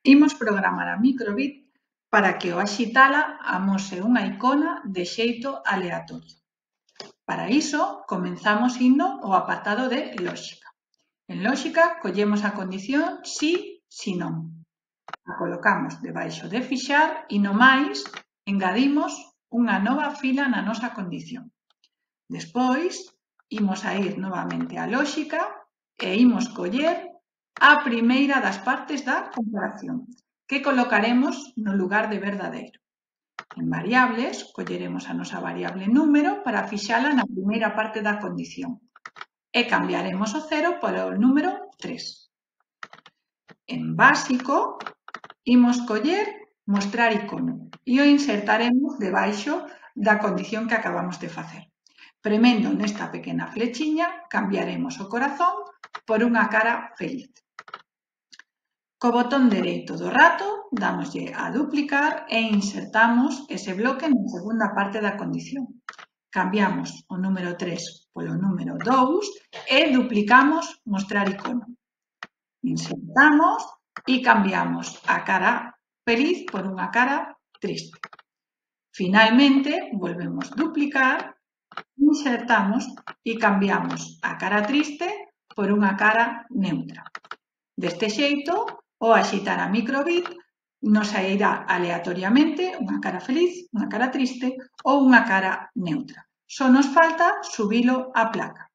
Imos programar a microbit para que ao axitala amose unha icona de xeito aleatorio. Para iso, comenzamos indo ao apartado de lógica. En lógica, collemos a condición si, si non. A colocamos debaixo de fixar e no máis engadimos unha nova fila na nosa condición. Despois, imos a ir novamente á lógica e imos coller a primeira das partes da comparación, que colocaremos no lugar de verdadeiro. En variables, colleremos a nosa variable número para fixala na primeira parte da condición e cambiaremos o 0 polo número 3. En básico, imos coller mostrar icono e o insertaremos debaixo da condición que acabamos de facer. Premendo nesta pequena flechiña, cambiaremos o corazón por unha cara feliz. Co botón dereito do rato, dámoslle a duplicar e insertamos ese bloque na segunda parte da condición. Cambiamos o número 3 polo número 2 e duplicamos mostrar icono. Insertamos e cambiamos a cara feliz por unha cara triste. Finalmente, volvemos a duplicar, insertamos e cambiamos a cara triste por unha cara neutra. Deste xeito, ao axitar a microbit, nos sairá aleatoriamente unha cara feliz, unha cara triste ou unha cara neutra. Só nos falta subilo á placa.